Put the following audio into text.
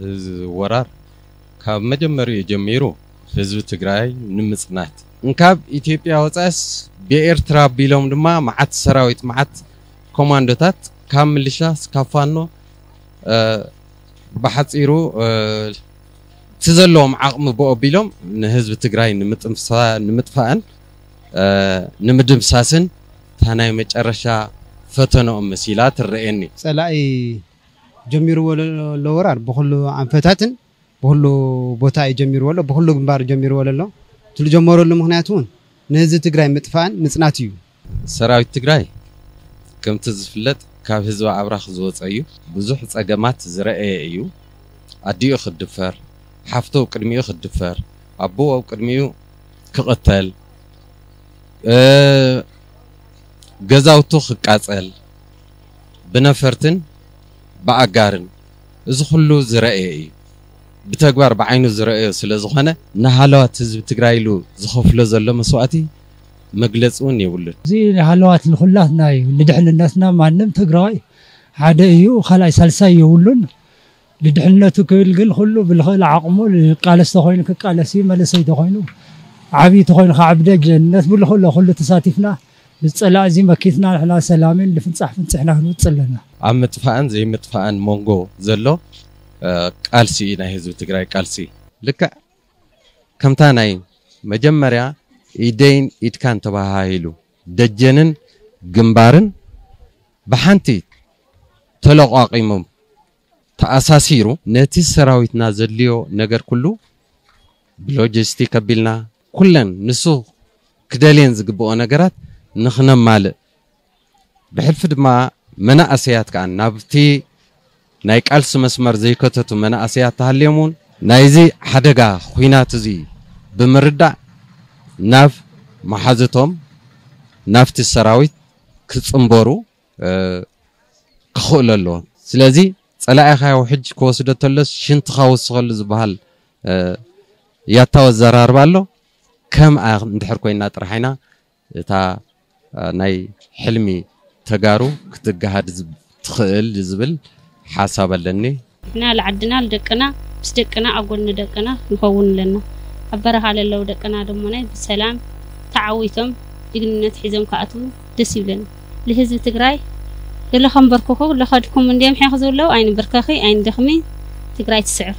እዚ ወራር ካብ መጀመሪኡ ጀሚሩ ህዝቢ ትግራይ ንምፅናት እንካብ ኢትዮጵያ ወፃእስ ብኤርትራ ኣቢሎም ድማ መዓት ሰራዊት መዓት ኮማንዶታት ካብ ምልሻ ካብ ፋኖ ብሓፂሩ እቲ ዘለዎም ዓቕሚ ብኦ ኣቢሎም ንህዝቢ ትግራይ ንምጥፋእን ንምድምሳስን እታ ናይ መጨረሻ ፈተንኦም መሲላ ትረኤኒ። ፀላኢ ጀሚርዎ ዘሎ ወራር ብኩሉ ኣንፈታትን ብኩሉ ቦታ እዩ ጀሚርዎ ኣሎ፣ ብኩሉ ግንባር ጀሚርዎ ኣሎ። እቲ ዝጀመረሉ ምክንያት እውን ንህዝቢ ትግራይ ምጥፋእን ምፅናት እዩ። ሰራዊት ትግራይ ከምቲ ዝፍለጥ ካብ ህዝቢ ኣብራኽ ዝወፀ እዩ። ብዙሕ ፀገማት ዝረአየ እዩ። ኣዲኡ ክድፈር፣ ሓፍቱ ኣብ ቅድሚኡ ክድፈር፣ ኣቦኡ ኣብ ቅድሚኡ ክቕተል፣ ገዛውቱ ክቃፀል ብነፈርትን ብኣጋርን እዚ ኩሉ ዝረአየ እዩ። ብተግባር ብዓይኑ ዝረአዮ ስለ ዝኾነ ንሃለዋት ህዝቢ ትግራይ ኢሉ ዝኸፍሎ ዘሎ መስዋእቲ መግለፂ እውን የብሉን። እዚ ሃለዋት ንኹላትና እዩ፣ ንድሕንነትና። ማንም ትግራዋይ ሓደ እዩ፣ ካልኣይ ሳልሳይ የብሉን። ንድሕንነቱ ክብል ግን ኩሉ ብልኽእል ዓቕሙ ክቃለስ ተኾይኑ ክቃለስ እዩ፣ መንእሰይ ተኾይኑ ዓብዪ ተኾይኑ ከዓ ብደጀንነት ብልኽእሎ ኩሉ ተሳቲፍና ንፀላእ እዚ መኪትና ንሕና ሰላምን ልፍንፃሕ ፍንፅሕና ክንወፅእ ኣለና። ኣብ ምጥፋእን ዘይምጥፋእን መንጎ ዘሎ ቃልሲ እዩ ናይ ህዝቢ ትግራይ ቃልሲ። ልክዕ ከምታ ናይ መጀመርያ ኢደይን ኢድካን ተባሃሂሉ ደጀንን ግንባርን ብሓንቲ ተለቋቂሞም ተኣሳሲሩ ነቲ ሰራዊትና ዘድልዮ ነገር ኩሉ ብሎጂስቲክ ኣቢልና ኩለን ንሱ ክደልየን ዝግብኦ ነገራት ንኽነማልእ ብሕልፊ ድማ መናእሰያት ከዓ ናብቲ ናይ ቃልሲ መስመር ዘይከተቱ መናእሰያት ተሃልዮም እውን ናይዚ ሓደጋ ኹናት እዚ ብምርዳእ ናብ መሓዝቶም ናብቲ ሰራዊት ክፅንበሩ ክኽእሉ ኣለዎም። ስለዚ ፀላኢኻ ያው ሕጂ ክወስዶ ተሎስ ሽንትኻ ወስኸሉ ዝበሃል ያታው ኣዘራርባ ኣሎ። ከም እንድሕር ኮይና ጥራሕ ኢና እታ ናይ ሕልሚ ተጋሩ ክትገሃድ ትኽእል ዝብል ሓሳብ ኣለኒ። ንሕና ልዓድና ልደቅና ምስ ደቅና ኣብ ጎኒ ደቅና ንኸውን ኣለና። ኣብ በረኻ ለለው ደቅና ደሞናይ ብሰላም ተዓዊቶም ጅግንነት ሒዞም ክኣትዉ ደስ ይብለኒ። ልህዝቢ ትግራይ ለኸንበርክኹ ለኸድኩም እንድዮም ሒኽ ዝብለው ኣይንበርከኺ ኣይንደኽሚ ትግራይ ትስዕር።